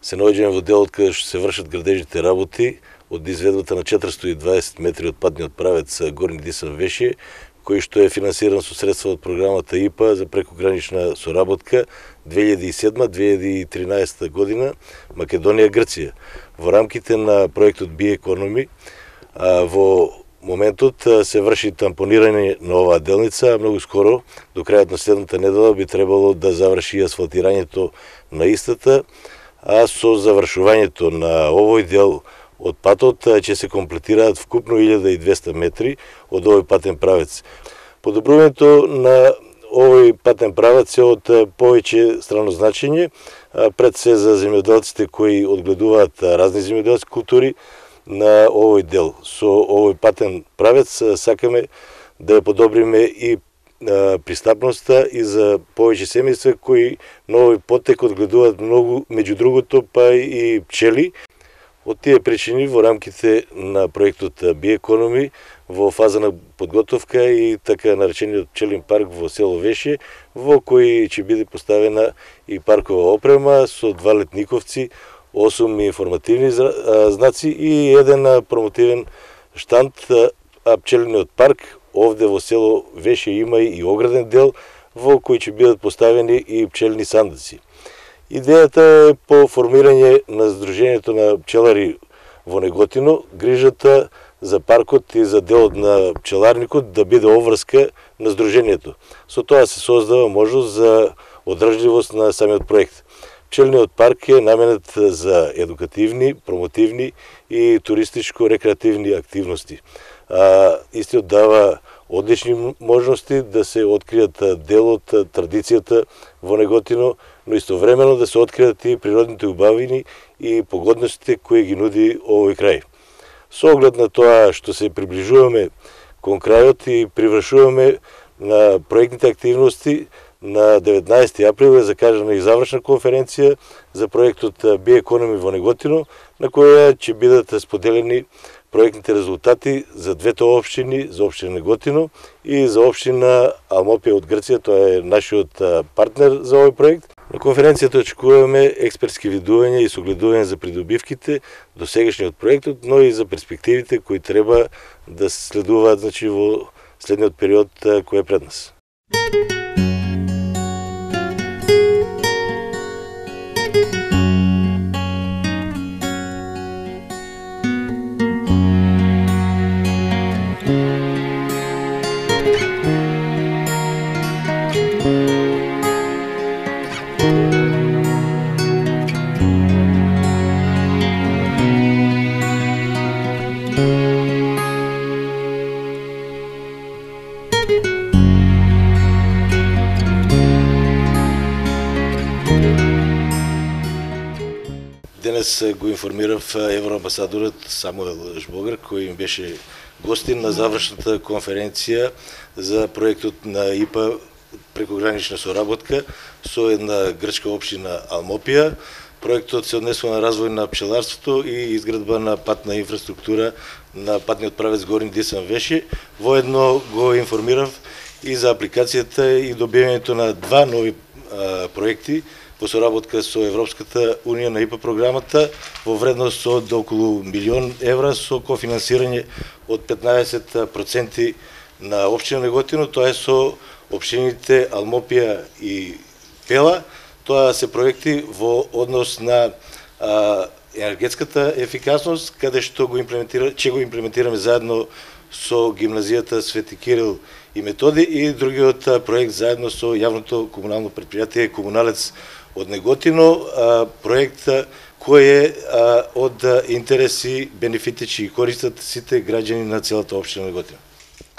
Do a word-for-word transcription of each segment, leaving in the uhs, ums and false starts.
се наоѓаме во делот каде што се вршат градежните работи од изведбата на четиристотини и дваесет метри од патниот правец Горни Дисан-Вешје, кој што е финансиран со средства од програмата И П А за прекогранична соработка две илјади и седма - две илјади и тринаесета година Македонија-Грција. Во рамките на проектот Биекономи, во моментот се врши тампонирање на оваа делница, а многу скоро, до крајот на следната недела, би требало да заврши асфалтирањето на истата, а со завршувањето на овој дел од патот ќе се комплетираат вкупно илјада и двесте метри од овој патен правец. Подобрувањето на овој патен правец е од повеќе странно значење, пред се за земјоделците кои одгледуваат разни земјоделски култури на овој дел. Со овој патен правец сакаме да ја подобриме и пристапноста и за повеќе семејства кои на овој потек одгледуваат многу, меѓу другото па и пчели. Од тие причини во рамките на проектот Биекономи во фаза на подготовка и така наречениот пчелин парк во село Вешје, во кој ќе биде поставена и паркова опрема со два летниковци, осум информативни знаци и еден промотивен штанд, а пчелиниот парк овде во село Вешје има и ограден дел во кој ќе бидат поставени и пчелини сандаци. Идејата е по формирање на Сдруженијето на пчелари во Неготино, грижата за паркот и за делот на пчеларникот да биде обврска на Сдруженијето. Со тоа се создава можност за одржливост на самиот проект. Пчелниот парк е наменет за едукативни, промотивни и туристичко-рекреативни активности. А, истиот дава одлични можности да се откријат дел од традицијата во Неготино, но истовремено да се откријат и природните убавини и погодностите кои ги нуди овој крај. Со оглед на тоа што се приближуваме кон крајот и привршуваме на проектните активности, на деветнаесети април е закажана и завршна конференција за проектот Биекономи во Неготино, на која ќе бидат споделени проектните резултати за двете општини, за општина Неготино и за општина Алмопија од Грција, тоа е нашиот партнер за овој проект. На конференцијата очекуваме експертски видувања и согледување за придобивките до сегашниот проектот, но и за перспективите кои треба да се следуваат, значи, во следниот период кој е пред нас. Денес го информирав евроамбасадорот Самуел Жбогар, кој им беше гостин на завршната конференција за проектот на И П А прекогранична соработка со една грчка општина Алмопија. Проектот се однесува на развој на пчеларството и изградба на патна инфраструктура на патниот правец Горни Дисан-Вешје. Воедно го информирав и за апликацијата и добивањето на два нови а, проекти во соработка со Европската Унија на И П А програмата во вредност од околу милион евра со кофинансирање од петнаесет проценти на општина Неготино, тоа е со општините Алмопија и Пела. Тоа се проекти во однос на а, енергетската ефикасност, каде што го имплементира, ќе го имплементираме заедно со гимназијата Свети Кирил и Методи, и другиот проект заедно со јавното комунално предпријатие Комуналец од Неготино, проект кој е од интереси, бенефитичи и користат сите граѓани на целата општина Неготино.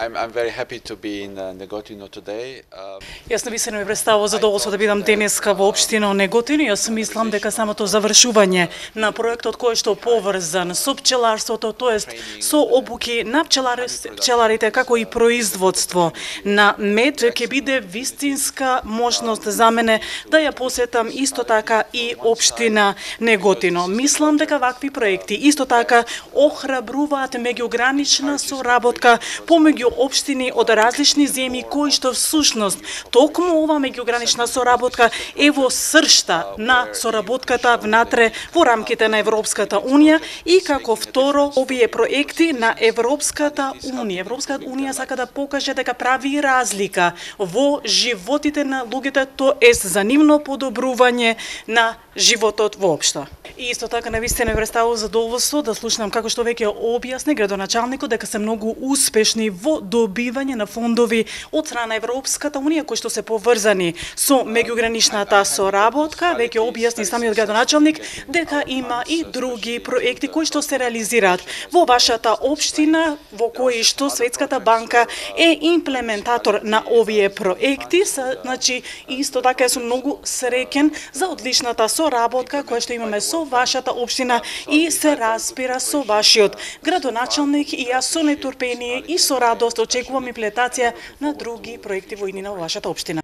I'm, I'm very happy to be in uh, Negotino today. Um... Јас навистина ми представува задоволство да бидам денеска во општина Неготино. Јас мислам дека самото завршување на проектот кој што поврзан со пчеларството, тоест со обуки на пчеларите, пчеларите како и производство на мед, ќе биде вистинска можност за мене да ја посетам исто така и општина Неготино. Мислам дека вакви проекти исто така охрабруваат меѓугранична соработка помеѓу меѓу општини од различни земји кои што всушност токму ова меѓугранична соработка е во сршта на соработката внатре во рамките на Европската унија и како второ овие проекти на Европската унија. Европската унија сака да покаже дека прави разлика во животите на луѓето, тоест за нивно подобрување на животот воопшто. И исто така навистина ме представува задоволство да слушнам како што веќе објасни градоначалникот дека се многу успешни во добивање на фондови од страна на Европската унија кои што се поврзани со меѓуграничната соработка. Веќе објасни самиот градоначалник дека има и други проекти кои што се реализираат во вашата општина, во кои што Светската банка е имплементатор на овие проекти. Значи исто така сум многу среќен за одличната соработка која што имаме со вашата општина и се разбира со вашиот градоначалник, и јас со нетрпение и со радост очекувам имплементација на други проекти во иднина во вашата општина.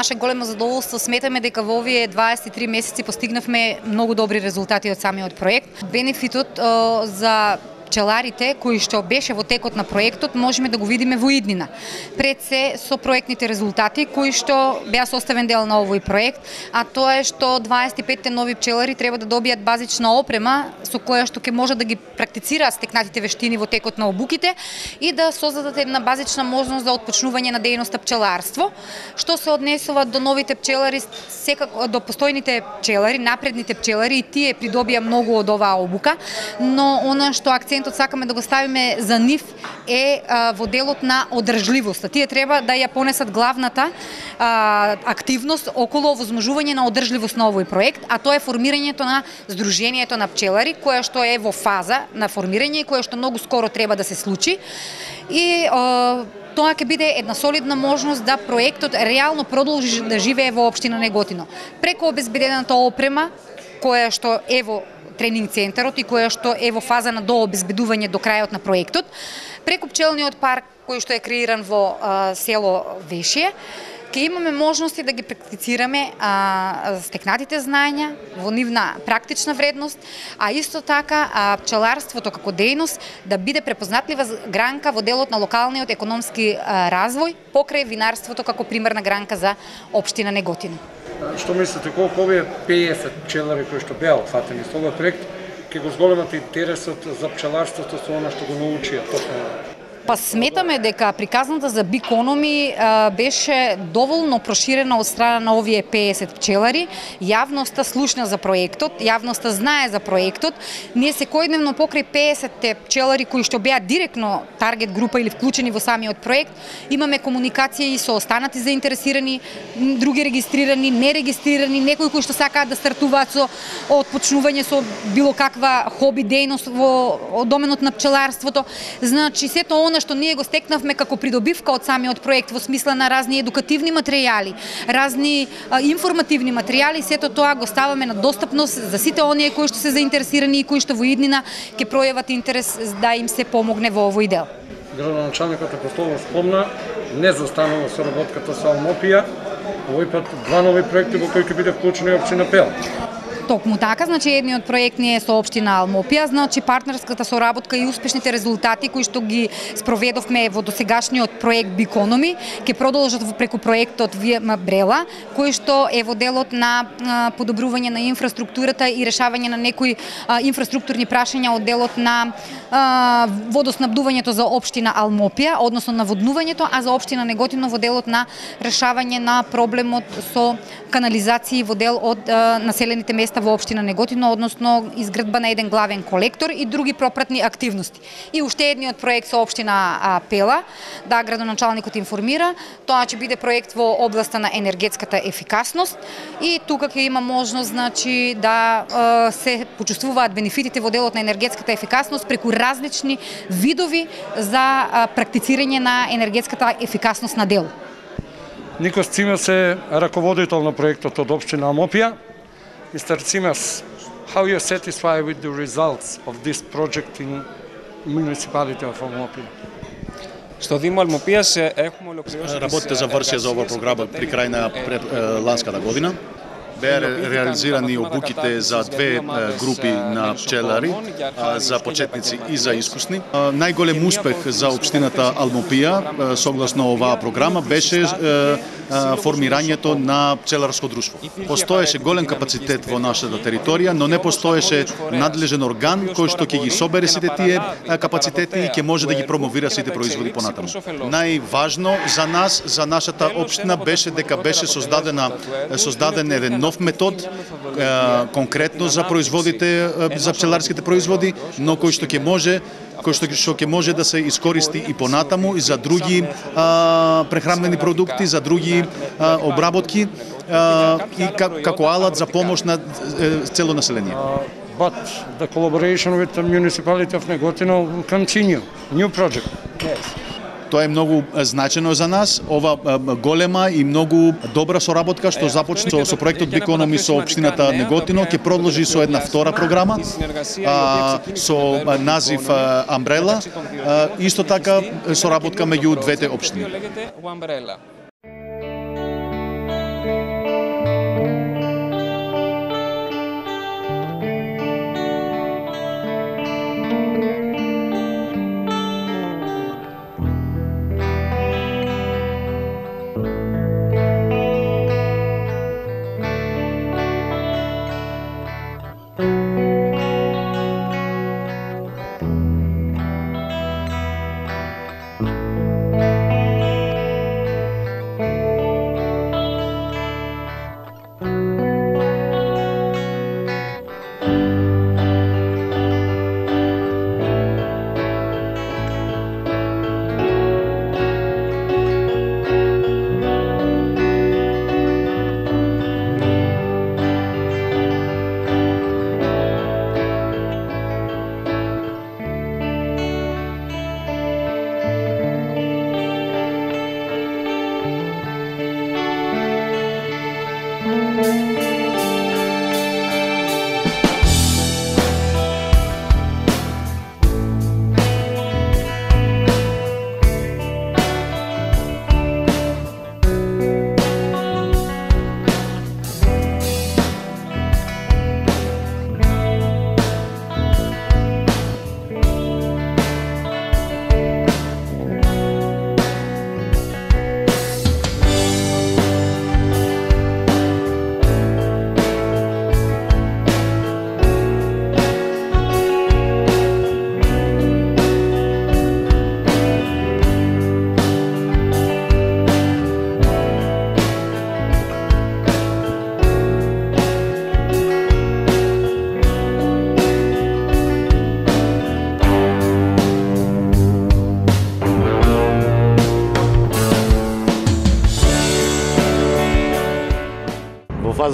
наше големо задоволство сметаме дека во овие дваесет и три месеци постигнавме многу добри резултати од самиот проект. Бенефитот а, за пчеларите кои што беше во текот на проектот можеме да го видиме во иднина. Пред се со проектните резултати кои што беа составен дел на овој проект, а тоа е што дваесет и петте нови пчелари треба да добијат базична опрема со која што ќе може да ги практицираат стекнатите вештини во текот на обуките и да создадат една базична можност за отпочнување на дејноста пчеларство. Што се однесува до новите пчелари, секако до постојните пчелари, напредните пчелари, и тие придобија многу од оваа обука, но она што акцент сакаме да го ставиме за нив е а, во делот на одржливост. Тие треба да ја понесат главната а, активност околу овозможување на одржливост на овој проект, а тоа е формирањето на Сдруженијето на пчелари, кое што е во фаза на формирање и кое што многу скоро треба да се случи. И а, тоа ќе биде една солидна можност да проектот реално продолжи да живее во општина Неготино. Преку обезбедената опрема, која што е во тренинг центарот и која што е во фаза на дообезбедување до крајот на проектот, преку пчелниот парк кој што е креиран во а, село Вешие, ќе имаме можности да ги практицираме а, стекнатите знаења во нивна практична вредност, а исто така а, пчеларството како дејност да биде препознатлива гранка во делот на локалниот економски а, развој покрај винарството како примерна гранка за општина Неготино. Што мислите, колку овие пеесет пчелари кои што беа опфатени со овој проект ќе го зголемат интересот за пчеларството со она што го научија точно? Па сметаме дека приказната за Бикономи беше доволно проширена од страна на овие пеесет пчелари. Јавноста слушна за проектот, јавноста знае за проектот. Ние секојдневно покрај пеесетте пчелари кои што беа директно таргет група или вклучени во самиот проект, имаме комуникација и со останати заинтересирани, други регистрирани, нерегистрирани, некои кои што сакаат да стартуваат со отпочнување со било каква хоби дејност во доменот на пчеларството. Значи сето она што ние го стекнавме како придобивка од самиот проект во смисла на разни едукативни материјали, разни а, информативни материјали, сето тоа го ставаме на достапност за сите оние кои што се заинтересирани и кои што во иднина ќе пројават интерес да им се помогне во овој дел. Градоначалникот Апостолов спомна, не застанува соработката со Алмопија, овој пат два нови проекти во кои ќе биде вклучена и општина Пела. Токму така, значи едниот проект ни е со општина Алмопија, значи партнерската соработка и успешните резултати кои што ги спроведовме во досегашниот проект Бикономи ќе продолжат преку проектот Виема Брела, кој што е во делот на а, подобрување на инфраструктурата и решавање на некои а, инфраструктурни прашања од делот на а, водоснабдувањето за општина Алмопија, односно наводнувањето, а за општина Неготино во делот на решавање на проблемот со канализации во дел од а, населените места во општина Неготино, односно изградба на еден главен колектор и други пропратни активности. И уште едниот проект со општина Пела, да градоначалникот информира, тоа ќе биде проект во областа на енергетската ефикасност и тука ќе има можност значи да е, се почувствуваат бенефитите во делот на енергетската ефикасност преку различни видови за е, практицирање на енергетската ефикасност на дел. Никос Цимес е раководител на проектот од општина Алмопија. Mister Cimas, how you satisfied with the results of this project in municipality of Алмопија? Στο Δήμο Αλμοπίας έχουμε ολοκληρώσει. Работите завршија за ова програма при крај на ланската година. Беа реализирани обуките за две групи на пчелари, за почетници и за искусни. Најголем успех за општината Алмопија согласно оваа програма беше формирањето на пчеларско друштво. Постоеше голем капацитет во нашата територија, но не постоеше надлежен орган кој што ќе ги собере сите тие капацитети и ќе може да ги промовира сите производи понатаму. Најважно за нас, за нашата општина беше дека беше создадена создаден еден нов метод конкретно за производите, за пчеларските производи, но кој што ќе може кој што што ќе може да се искористи и понатаму и за други а, прехранбени продукти, за други а, обработки а, и како алат за помош на цело население. But the collaboration with the municipality of Negotino will continue. New project. Yes. Тоа е многу значено за нас, ова голема и многу добра соработка што започна со, со проектот Бикономи со општината Неготино, ќе продолжи со една втора програма а, со назив Umbrella, а, исто така соработка меѓу двете општини.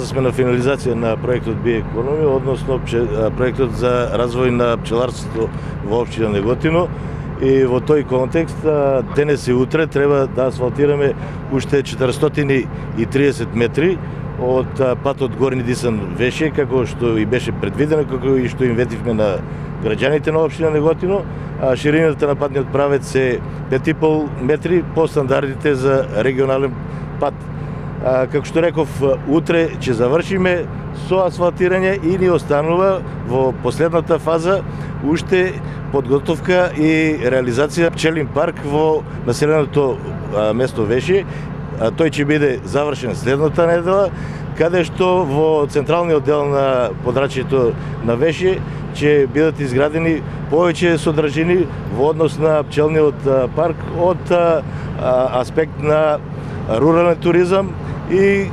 сме на финализација на проектот Биекономија, односно проектот за развој на пчеларството во општина Неготино. И во тој контекст денес и утре треба да асфалтираме уште четиристотини и триесет метри од патот Горни Дисан-Веше, како што и беше предвидено, како и што им ветивме на граѓаните на општина Неготино. А ширината на патниот правец е пет и пол метри по стандардите за регионален пат. А, како што реков, утре ќе завршиме со асфалтирање и ни останува во последната фаза уште подготовка и реализација пчелин парк во населеното а, место Веше. А, тој ќе биде завршен следната недела, каде што во централниот дел на подрачјето на Веше ќе бидат изградени повеќе содржини во однос на пчелниот парк од а, аспект на рурален туризам и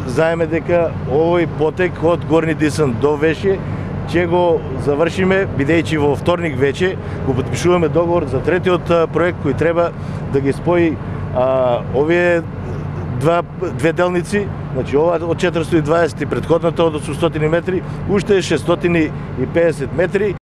знаеме дека овој потек од Горни Дисан до Веше ќе го завршиме, бидејќи во вторник вече го потпишуваме договор за третиот проект кој треба да ги спои а, овие два две делници, значи ова од четиристотини и дваесет и претходната од осумстотини метри, уште шестстотини и педесет метри.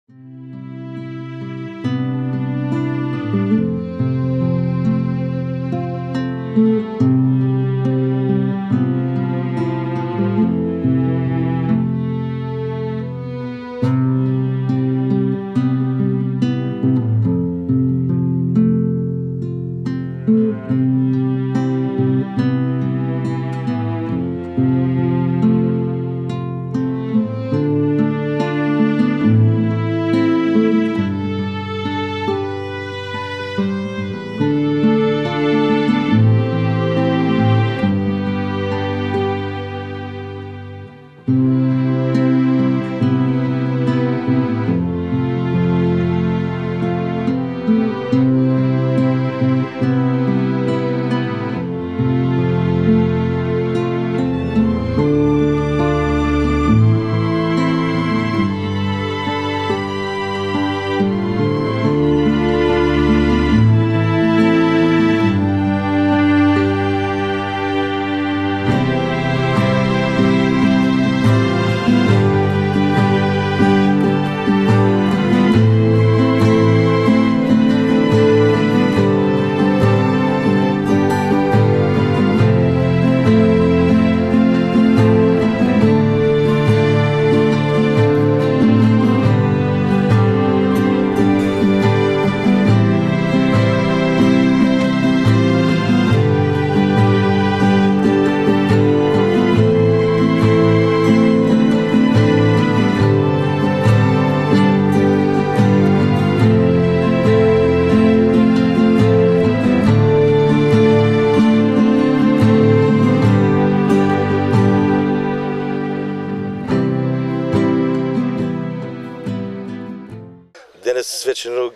Денес свечено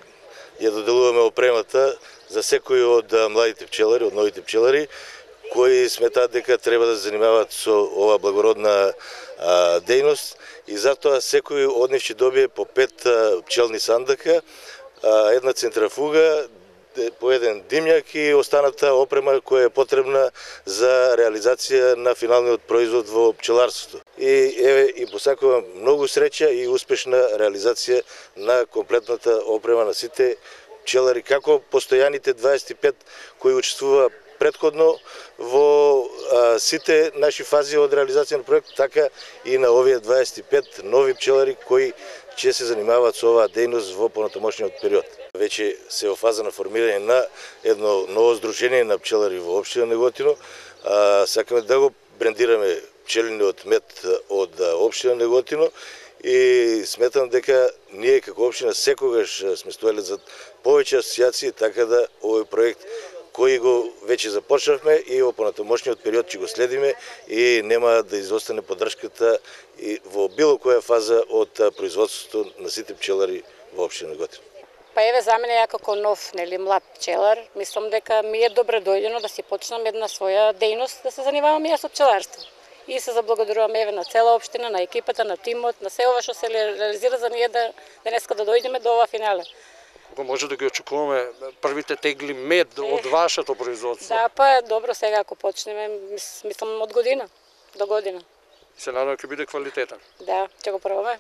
ја доделуваме опремата за секој од младите пчелари, од новите пчелари, кои сметаат дека треба да се занимаваат со ова благородна а, дејност и затоа секој од нив ќе добие по пет а, пчелни сандака, а, една центрафуга, по еден димњак и останата опрема која е потребна за реализација на финалниот производ во пчеларството. И еве и посакувам многу среќа и успешна реализација на комплетната опрема на сите пчелари, како постојаните дваесет и пет кои учествува претходно во а, сите наши фази од реализација на проект, така и на овие дваесет и пет нови пчелари кои ќе се занимаваат со оваа дејност во понатамошниот период. Веќе се во фаза на формирање на едно ново здружение на пчелари во општина Неготино. А, сакаме да го брендираме пчелиниот мед од општина Неготино и сметам дека ние како општина секогаш сме стоеле за повеќе асоцијации, така да овој проект кој го веќе започнавме и во понатамошниот период ќе го следиме и нема да изостане поддршката и во било која фаза од производството на сите пчелари во општина Неготино. Па еве за мене ја како нов, нели, млад пчелар, мислам дека ми е добре дојдено да си почнам една своја дејност, да се занимавам и јас со пчеларство. И се заблагодарувам еве на цела општина, на екипата, на тимот, на се ова што се реализира за ние да денеска да дојдеме до ова финале. Кога може да ги очекуваме првите тегли мед од вашето производство? Да, па добро, сега ако почнеме, мислам од година до година. Се надевам ќе биде квалитетен. Да, ќе го пробаме.